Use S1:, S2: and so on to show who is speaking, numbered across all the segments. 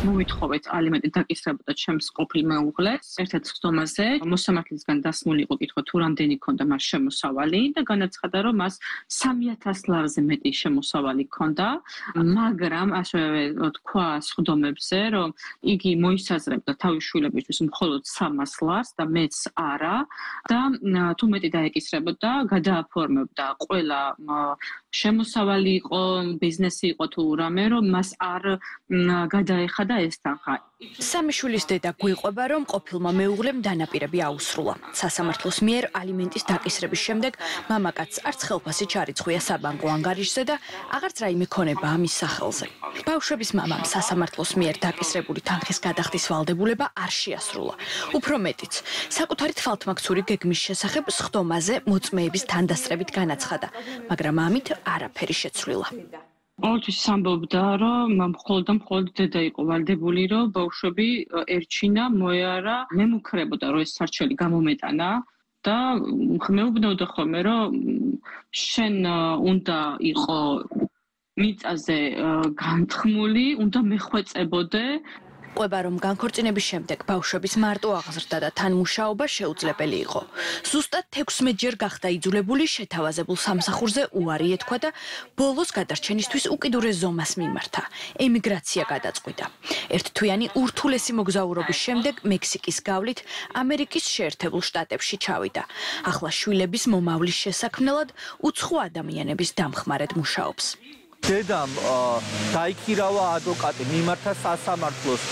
S1: მოვითხოვეთ ალიმენტი დაკისრებოდა ჩემს ყოფილ მეუღლეს. ერთ-ერთ ხდომაზე მოსამართლისგან დასმული იყო კითხვა თუ რამდენი ქონდა მას შემოსავალი და განაცხადა რომ მას 3000 ლარზე მეტი შემოსავალი ქონდა, მაგრამ ასევე თქვა ხდომებზე რომ იგი მოისაზრებდა თავის შვილებისთვის მხოლოდ 300 ლარს და მეც არა და თუ მეტი დაეკისრებოდა, გადააფორმებდა ყველა შემოსავალი იყო, ბიზნესი იყო თუ რამე, რომ მას არ გადაეხადა ეს თანხა.
S2: სამი შვილის დედა გვიყვება, რომ ყოფილმა მეუღლემ დანაპირები აუსრულა. სასამართლოს მიერ ალიმენტის დაკისრების შემდეგ მამაკაცს არც ხელფასი ჩარიცხვია საბანკო ანგარიშზე და აღარც რაიმე ქონება ამის სახელზე. ბავშვების მამამ სასამართლოს მიერ დაკისრებული თანხის გადახდის ვალდებულება არ შეასრულა. უფრო მეტიც, საკუთარი თვალთმაქცური გეგმის შესახებ სხდომაზე მოწმეების თანდასწრებით განაცხადა, მაგრამ ამით არაფერი შეცვლილა.
S1: ყოველთვის ამბობდა, რომ მხოლოდ დედა იყო ვალდებული, რომ ბავშვები ერჩინა, მოეარა, მემუქრებოდა, რომ ეს სარჩელი გამომეტანა და მეუბნებოდა ხოლმე, რომ შენ უნდა იყო მიწაზე განთქმული, უნდა მეხვეწებოდე.
S2: ყვება რომ განქორწინების შემდეგ ბავშვების მარტო აღზრდა და თანმუშაობა შეუძლებელი იყო. ზუსტად 16-ჯერ გახდა იძულებული შეთავაზებულ სამსახურზე უარი ეთქვა და ბოლოს გადარჩენისთვის უკიდურეს ზომას მიმართა. ემიგრაცია გადაწყვიტა. ერთთვიანი ურთულესი მოგზაურობის შემდეგ მექსიკის გავლით ამერიკის შეერთებულ შტატებში ჩავიდა. ახლა შვილების მომავლის შესაქმნელად უცხო ადამიანების დამხმარედ მუშაობს.
S3: დედამ დაიქირავა ადვოკატი, მიმართა სასამართლოს,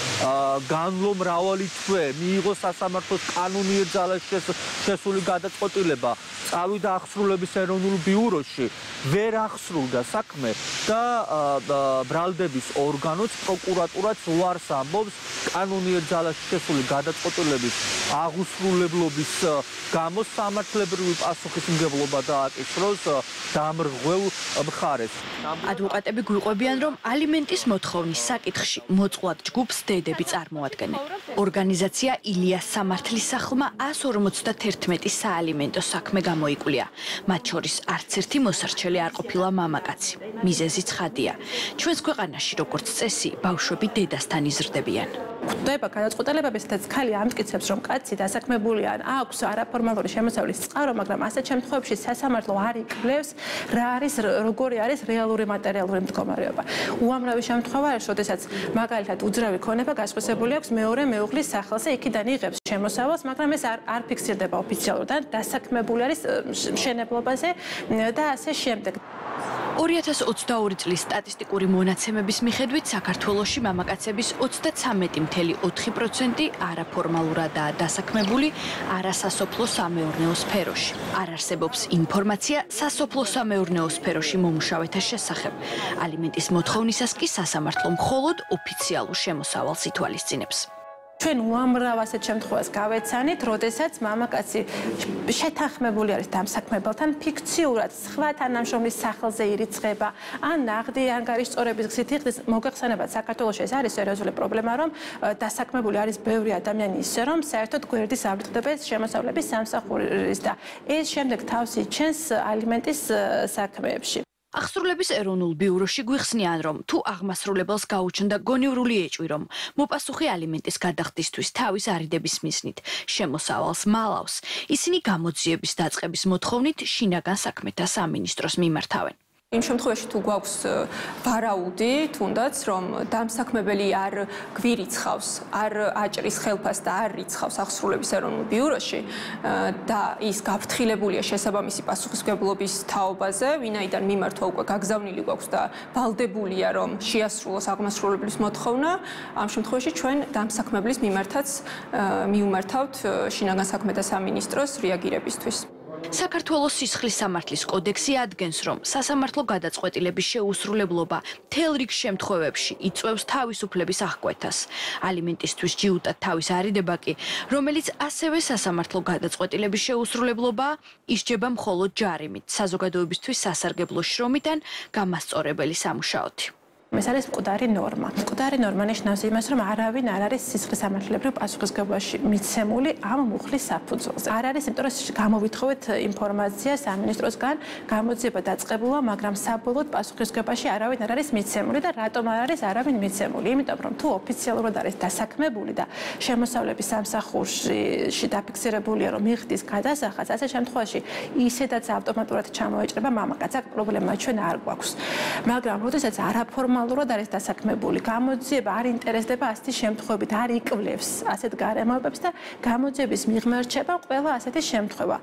S3: განვლო მრავალი თვე, მიიღო სასამართლოს კანონიერ ძალაში შესული გადაწყვეტილება, წავიდა აღსრულების ეროვნულ ბიუროში, ვერ აღსრულდა საქმე და ბრალდების ორგანოც პროკურატურაც უარს ამბობს კანონიერ ძალაში შესული გადაწყვეტილების აღუსრულებლობის გამო სამართლებრივი პასუხისმგებლობა დააკისროს დამრღვევ მხარეს.
S2: ადვოკატები გვიყვებიან, რომ ალიმენტის მოთხოვნის საკითხში მოწყვლად ჯგუფს დედები წარმოადგენენ. ორგანიზაცია ილიას სამართლის სახლმა 151 საალიმენტო საქმე გამოიკვლია. მათ შორის არც ერთი მოსარჩელი არ ყოფილა მამაკაცი. მიზეზი ცხადია. ჩვენს ქვეყანაში, როგორც წესი, ბავშვები დედასთან იზრდებიან.
S4: გვხვდება გადაწყვეტილებები, სადაც ქალი ამტკიცებს, რომ კაცი დასაქმებული ან აქვს არაფორმალური შემოსავლის წყარო, მაგრამ ასეთ შემთხვევებში სასამართლო არ იკვლევს, რა არის, როგორი არის რეალური მატერიალური მდგომარეობა. უამრავი შემთხვევა არის, როდესაც მაგალითად უძრავი ქონება გასხვისებული აქვს მეორე მეუღლის სახელზე, იქიდან იღებს შემოსავალს, მაგრამ ეს არ ფიქსირდება ოფიციალურად და დასაქმებული არის მშენებლობაზე და ასე შემდეგ.
S2: 2022 წლის სტატისტიკური მონაცემების მიხედვით საქართველოში მამაკაცების 33.4% არაფორმალურადაა დასაქმებული არასასოფლო-სამეურნეო სფეროში. არ არსებობს ინფორმაცია სასოფლო-სამეურნეო სფეროში მომუშავეთა შესახებ. ალიმენტის მოთხოვნისას კი სასამართლო მხოლოდ ოფიციალურ შემოსავალს ითვალისწინებს.
S4: ჩვენ უამრავ ასეთ შემთხვევას გავეცანით, როდესაც მამაკაცი შეთანხმებული არის დამსაქმებელთან, ფიქციურად სხვა თანამშრომლის სახელზე ირიცხება, ან ნაღდი ანგარიშწორების გზით იხდის. მოგეხსენებათ, საქართველოში ეს არის სერიოზული პრობლემა, რომ დასაქმებული არის ბევრი ადამიანი ისე, რომ საერთოდ გვერდის ავლწყდება ეს შემოსავლების სამსახურის და ეს შემდეგ თავს იჩენს ალიმენტის საქმეებში.
S2: აღსრულების ეროვნულ ბიუროში გვიხსნიან, რომ თუ აღმასრულებელს გაუჩნდა გონივრული ეჭვი, რომ მოპასუხი ალიმენტის გადახდისთვის თავის არიდების მიზნით შემოსავალს მალავს, ისინი გამოძიების დაწყების მოთხოვნით შინაგან საქმეთა სამინისტროს მიმართავენ.
S5: იმ შემთხვევაში თუ გვაქვს ვარაუდი, თუნდაც რომ დამსაქმებელი არ გვირიცხავს, არ აჭრის ხელფას და არ რიცხავს აღსრულების ეროვნულ ბიუროში და ის გაფრთხილებულია შესაბამისი პასუხისმგებლობის თაობაზე, ვინაიდან მიმართვა უკვე გაგზავნილი გვაქვს და ვალდებულია რომ შეასრულოს აღმასრულებლის მოთხოვნა, ამ შემთხვევაში ჩვენ დამსაქმებლის მიმართაც მიუმართავთ შინაგან საქმეთა სამინისტროს რეაგირებისთვის.
S2: საქართველოს სისხლის სამართლის კოდექსი ადგენს, რომ სასამართლო გადაწყვეტილების შეუსრულებლობა მთელ რიგ შემთხვევებში იწვევს თავისუფლების აღკვეთას. ალიმენტისთვის ჯიუტად თავის არიდება კი, რომელიც ასევე სასამართლო გადაწყვეტილების შეუსრულებლობაა, ისჯება მხოლოდ ჯარიმით, საზოგადოებისთვის სასარგებლო შრომით ან გამასწორებელი სამუშაოთი.
S4: ეს არის მკვდარი ნორმა. მკვდარი ნორმა ნიშნავს იმას, რომ არავინ არ არის სისხლის სამართლებრივ პასუხისმგებლობაში მიცემული ამ მუხლის საფუძველზე. არ არის, იმიტომ რომ გამოვითხოვეთ ინფორმაცია სამინისტროსგან, გამოძიება დაწყებულა, მაგრამ საბოლოოდ პასუხისმგებლობაში არავინ არ არის მიცემული და რატომ არ არის არავინ მიცემული? იმიტომ რომ თუ ოფიციალურად არის დასაქმებული და შემოსავლების სამსახურში დაფიქსირებულია, რომ მიხდის გადასახადს, ასე შემთხვევაში ისედაც ავტომატურად ჩამოეჭრება მამაკაც. აქ პრობლემა ჩვენ არ გვაქვს. მაგრამ როდესაც არაფორმალურად არის დასაქმებული, გამოძიება არ ინტერესდება ასეთი შემთხვევებით, არ იკვლევს ასეთ გარემოებებს და გამოძიების მიღმა რჩება ყველა ასეთი შემთხვევა.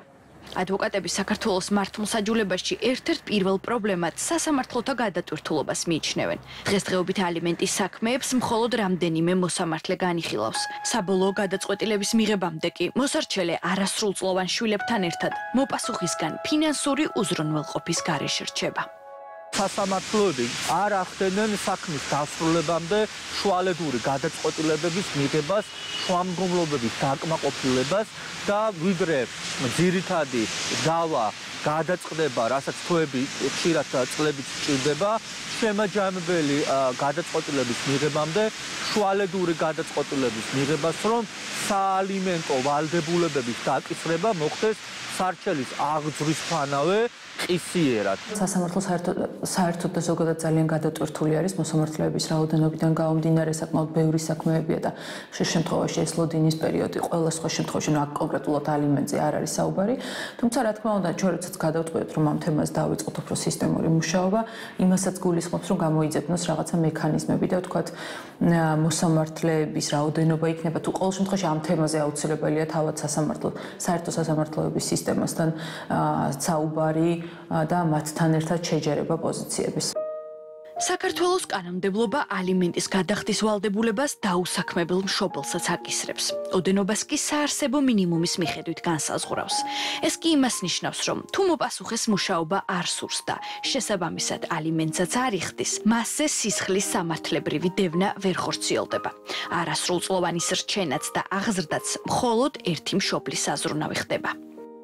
S2: ადვოკატები საქართველოს მართლმსაჯულებაში ერთ-ერთ პირველ პრობლემად სასამართლოთა გადატვირთულობას მიიჩნევენ. დღესდღეობით ალიმენტის საქმეებს მხოლოდ რამდენიმე მოსამართლე განიხილავს. საბოლოო გადაწყვეტილების მიღებამდე კი მოსარჩელე არასრულწლოვან შვილებთან ერთად მოპასუხისგან ფინანსური უზრუნველყოფის გარეშე რჩება.
S3: სასამართლოები არ ახდენენ საქმის დასრულებამდე შუალედური გადაწყვეტილებების მიღებას, შუამდგომლობების დაკმაყოფილებას და ვიდრე ძირითადი დავა გადაწყდება, რასაც თვეები ხშირად წლებით სჭირდება, შემაჯამებელი გადაწყვეტილების მიღებამდე შუალედური გადაწყვეტილების მიღებას, რომ საალიმენტო ვალდებულებების დაკისრება მოხდეს სარჩელის აღძვრისთანავე ყისიერად.
S6: სასამართლო საერთოდ და ზოგადად ძალიან გადატვირთული არის მოსამართლეების რაოდენობიდან გამომდინარე, საკმაოდ ბევრი საქმეებია და ხშირ შემთხვევაში ეს ლოდინის პერიოდი ყველა სხვა შემთხვევაში კონკრეტულად ალიმენტზე არ არის საუბარი. თუმცა რა თქმა უნდა, ჩვენ როდესაც გადავწყვეტთ, რომ ამ თემას დავიწყოთ უფრო სისტემური მუშაობა, იმასაც გულისხმობს, რომ გამოიძებნოს რაღაცა მექანიზმები და ვთქვათ, მოსამართლეების რაოდენობა იქნება თუ ყოველ შემთხვევაში ამ თემაზე აუცილებელია თავად საერთო სასამართლოების სისტემასთან საუბარი და მათთან ერთად შეჯერება პოზიციების.
S2: საქართველოს კანონმდებლობა ალიმენტის გადახდის ვალდებულებას დაუსაქმებელ მშობელსაც აკისრებს. ოდენობას კი საარსებო მინიმუმის მიხედვით განსაზღვრავს. ეს კი იმას ნიშნავს, რომ თუ მოპასუხეს მუშაობა არ სურს და შესაბამისად ალიმენტსაც არ იხდის, მასზე სისხლის სამართლებრივი დევნა ვერ ხორციელდება. არასრულწლოვანის რჩენაც და აღზრდაც მხოლოდ ერთი მშობლის საზრუნავი ხდება.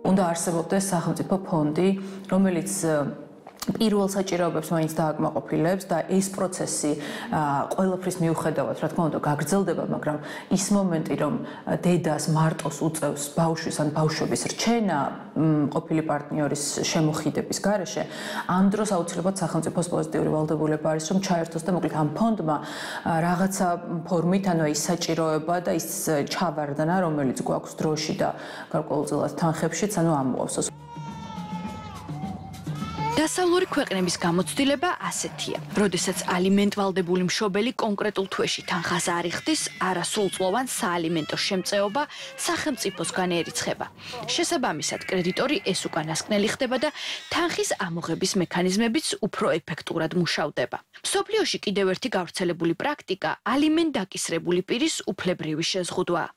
S6: უნდა არსებობდეს სახელმწიფო ფონდი, რომელიც პირველ საჭიროებებს მაინც დააკმაყოფილებს და ეს პროცესი ყველაფრის მიუხედავად, რა თქმა უნდა, გაგრძელდება, მაგრამ ის მომენტი, რომ დედას მარტოს უწევს ბავშვის ან ბავშვების რჩენა ყოფილი პარტნიორის შემოხიდების გარეშე, ამ დროს აუცილებლად სახელმწიფოს პოზიტიური ვალდებულება არის, რომ ჩაერთოს და მოკლედ ამ ფონდმა რაღაცა ფორმით, ანუ ის საჭიროება და ის ჩავარდნა, რომელიც გვაქვს დროში და გარკვეულწილად თანხებშიც, ანუ ამოავსოს.
S2: დასავლური ქვეყნების გამოცდილება ასეთია. როდესაც ალიმენტვალდებული მშობელი კონკრეტულ თვეში თანხას არ იხდის, არასრულწლოვან საალიმენტო შემწეობა სახელმწიფოსგან ერიცხება. შესაბამისად, კრედიტორი ეს უკანასკნელი ხდება და თანხის ამოღების მექანიზმებიც უფრო ეფექტურად მუშავდება. მსოფლიოში კიდევ ერთი გავრცელებული პრაქტიკა ალიმენტ დაკისრებული პირის უფლებრივი შეზღუდვაა.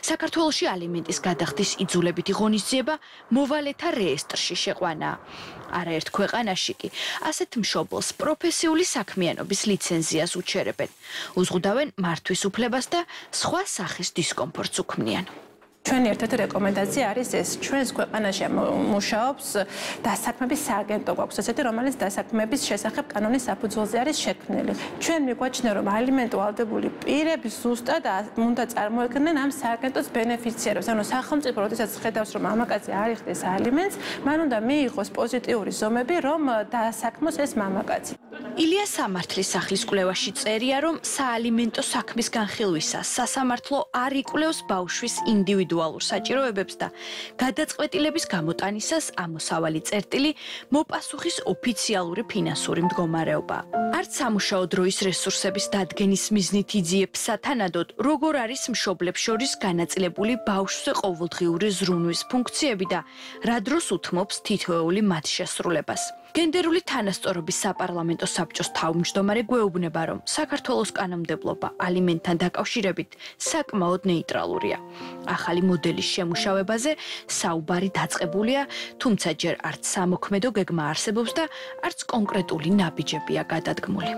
S2: საქართველოში ალიმენტის გადახდის იძულებითი ღონისძიება მოვალეთა რეესტრში შეყვანაა. არაერთ ქვეყანაში კი ასეთ მშობელს პროფესიული საქმიანობის ლიცენზიას უჩერებენ. უზღუდავენ მართვის უფლებას და სხვა სახის დისკომფორტს უქმნიან.
S4: ჩვენი ერთ-ერთი რეკომენდაცია არის ეს, ჩვენს ქვეყანაში მუშაობს დასაქმების სააგენტო გვაქვს ესეთი, რომელიც დასაქმების შესახებ კანონის საფუძველზე არის შექმნილი. ჩვენ მიგვაჩნია, რომ ალიმენტო ვალდებული პირები ზუსტად უნდა წარმოექმნენ ამ სააგენტოს ბენეფიციარებს. ანუ სახელმწიფო როდესაც ხედავს, რომ მამაკაცი არ იხდის ალიმენტს, მან უნდა მიიღოს პოზიტიური ზომები, რომ დაასაქმოს ეს მამაკაცი.
S2: ილია სამართლის სახლის კვლევაში წერია, რომ საალიმენტო საქმის განხილვისას სასამართლო არ იკვლევს ბავშვის ინდივიდუალურ საჭიროებებს და გადაწყვეტილების გამოტანისას ამოსავალი წერტილი მოპასუხის ოფიციალური ფინანსური მდგომარეობა. არც სამუშაო დროის რესურსების დადგენის მიზნით იძიებს სათანადოდ, როგორ არის მშობლებს შორის განაწილებული ბავშვზე ყოველდღიური ზრუნვის ფუნქციები და რა დროს უთმობს თითოეული მათ შესრულებას. გენდერული თანასწორობის საპარლამენტო საბჭოს თავმჯდომარე გვეუბნება, რომ საქართველოს კანონმდებლობა ალიმენტთან დაკავშირებით საკმაოდ ნეიტრალურია. ახალი მოდელის შემუშავებაზე საუბარი დაწყებულია, თუმცა ჯერ არც სამოქმედო გეგმა არსებობს და არც კონკრეტული ნაბიჯებია გადადგმული.